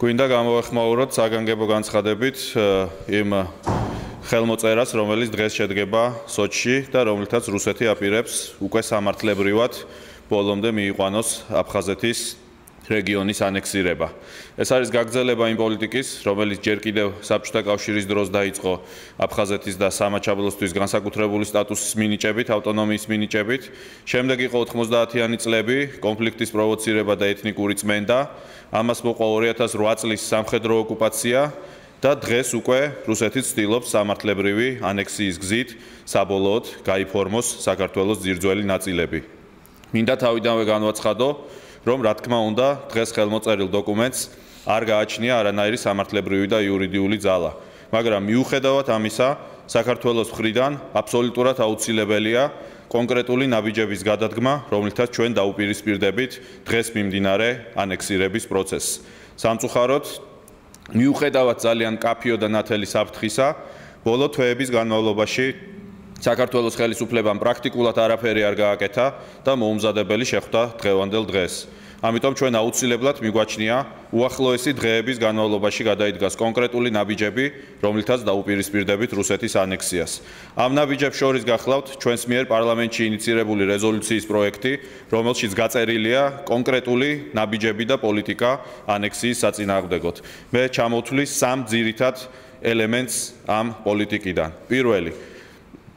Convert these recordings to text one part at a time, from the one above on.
გვინდა გამოვეხმაუროთ საგანგებო განცხადებით იმ ხელმოწერას, რომელიც დღეს შედგება სოჩში და რომლითაც რუსეთი აპირებს უკვე სამართლებრივად ბოლომდე მიიყვანოს აფხაზეთის რეგიონის ანექსირება. ეს არის გაგრძელება იმ პოლიტიკის, რომელიც ჯერ კიდევ საბჭოთა კავშირის დროს დაიწყო აფხაზეთის და სამაჩაბლოსთვის განსაკუთრებული სტატუსის მინიჭებით, ავტონომიის მინიჭებით. შემდეგ იყო 90-იანი წლები, კონფლიქტის პროვოცირება და ეთნიკური წმენდა. ამას მოყვა 2008 წლის სამხედრო ოკუპაცია და დღეს უკვე რუსეთი ცდილობს სამართლებრივი ანექსიის გზით საბოლოოდ გაიფორმოს საქართველოს ძირძველი ნაწილები. მინდა თავიდანვე განვაცხადო, რომ რა თქმა უნდა დღეს ხელმოწერილ დოკუმენტს არ გააჩნია არანაირი სამართლებრივი და იურიდიული ძალა, მაგრამ მიუხედავად ამისა, საქართველოს მხრიდან აბსოლუტურად აუცილებელია კონკრეტული ნაბიჯების გადადგმა, რომლითაც ჩვენ დაუპირისპირდებით დღეს მიმდინარე ანექსირების პროცესს. სამწუხაროდ, მიუხედავად ძალიან მკაფიო და ნათელი საფრთხისა, ბოლო თვეების განმავლობაში საქართველოს ხელისუფლებამ პრაქტიკულად არაფერი არ გააკეთა და მოუმზადებელი შეხვდა დღევანდელ დღეს. ამიტომ ჩვენ აუცილებლად მიგვაჩნია უახლოესი დღეების განმავლობაში გადაიდგას კონკრეტული ნაბიჯები, რომლითაც დაუპირისპირდებით რუსეთის ანექსიას. ამ ნაბიჯებს შორის გახლავთ ჩვენს მიერ პარლამენტში ინიცირებული რეზოლუციის პროექტი, რომელშიც გაწერილია კონკრეტული ნაბიჯები და პოლიტიკა ანექსიის საწინააღმდეგოდ. მე ჩამოვთვლი სამ ძირითად ელემენტს ამ პოლიტიკიდან. პირველი,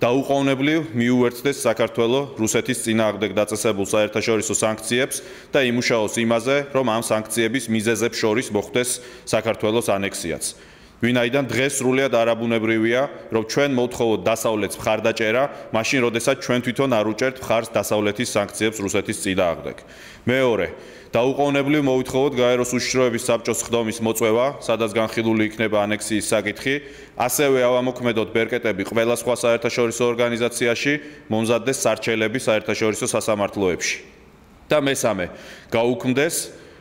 დაუყოვნებლივ მიუერთდეს საქართველოს რუსეთის წინააღმდეგ დაწესებულ საერთაშორისო სანქციებს და იმუშაოს იმაზე, რომ ამ სანქციების მიზეზებს შორის მოხვდეს საქართველოს ანექსიაც. ვინაიდან დღეს სრულიად არაბუნებრივია, რომ ჩვენ მოვთხოვოთ დასავლეთს მხარდაჭერა, მაშინ როდესაც ჩვენ თვითონ არ უჭერთ მხარს დასავლეთის სანქციებს რუსეთის წინააღმდეგ. მეორე, დაუყოვნებლივ მოვითხოვოთ გაეროს უშიშროების საბჭოს ხდომის მოწვევა, სადაც განხილული იქნება ანექსიის საკითხი, ასევე ავამოქმედოთ ბერკეტები ყველა სხვა საერთაშორისო ორგანიზაციაში, მომზადდეს სარჩელები საერთაშორისო სასამართლოებში. და მესამე, გაუქმდეს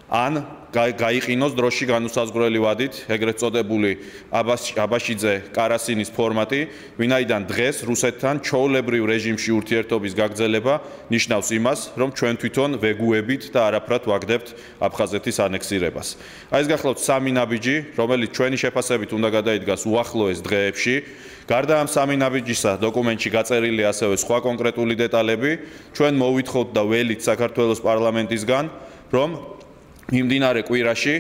ან გაიყინოს დროში განუსაზღვრელი ვადით ეგრეთ წოდებული აბაშიძე-კარასინის ფორმატი, ვინაიდან დღეს რუსეთთან ჩვეულებრივ რეჟიმში ურთიერთობის გაგრძელება ნიშნავს იმას, რომ ჩვენ თვითონ ვეგუებით და არაფრად ვაგდებთ აფხაზეთის ანექსირებას. ეს გახლავთ სამი ნაბიჯი, რომელიც ჩვენი შეფასებით უნდა გადაიდგას უახლოეს დღეებში. გარდა ამ სამი ნაბიჯისა, დოკუმენტში გაწერილია ასევე სხვა კონკრეტული დეტალები. ჩვენ მოვითხოვთ და ველით საქართველოს პარლამენტისგან, რომ მიმდინარე კვირაში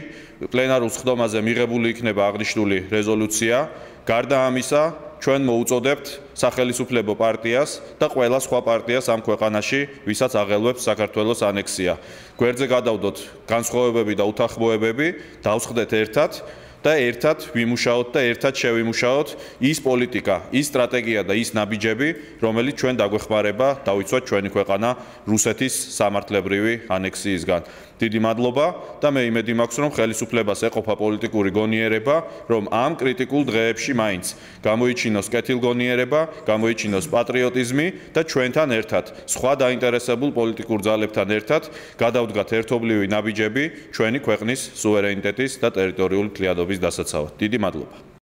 პლენარულ სხდომაზე მიღებული იქნება აღნიშნული რეზოლუცია. გარდა ამისა, ჩვენ მოუწოდებთ სახელისუფლებო პარტიას და ყველა სხვა პარტიას ამ ქვეყანაში, ვისაც აღელვებს საქართველოს ანექსია. გვერდზე გადავდოთ განსხვავებები და უთანხმოებები, დავსხდეთ ერთად და ერთად ვიმუშაოთ და ერთად შევიმუშაოთ ის პოლიტიკა, ის სტრატეგია და ის ნაბიჯები, რომელიც ჩვენ დაგვეხმარება დავიცვათ ჩვენი ქვეყანა რუსეთის სამართლებრივი ანექსიისგან. დიდი მადლობა და მე იმედი მაქვს, რომ ხელისუფლებას ეყოფა პოლიტიკური გონიერება, რომ ამ კრიტიკულ დღეებში მაინც გამოიჩინოს კეთილგონიერება, გამოიჩინოს პატრიოტიზმი და ჩვენთან ერთად, სხვა დაინტერესებულ პოლიტიკურ ძალებთან ერთად გადავდგათ ერთობლივი ნაბიჯები ჩვენი ქვეყნის სუვერენიტეტის და ტერიტორიული თლიადობის დასაცავად. დიდი მადლობა.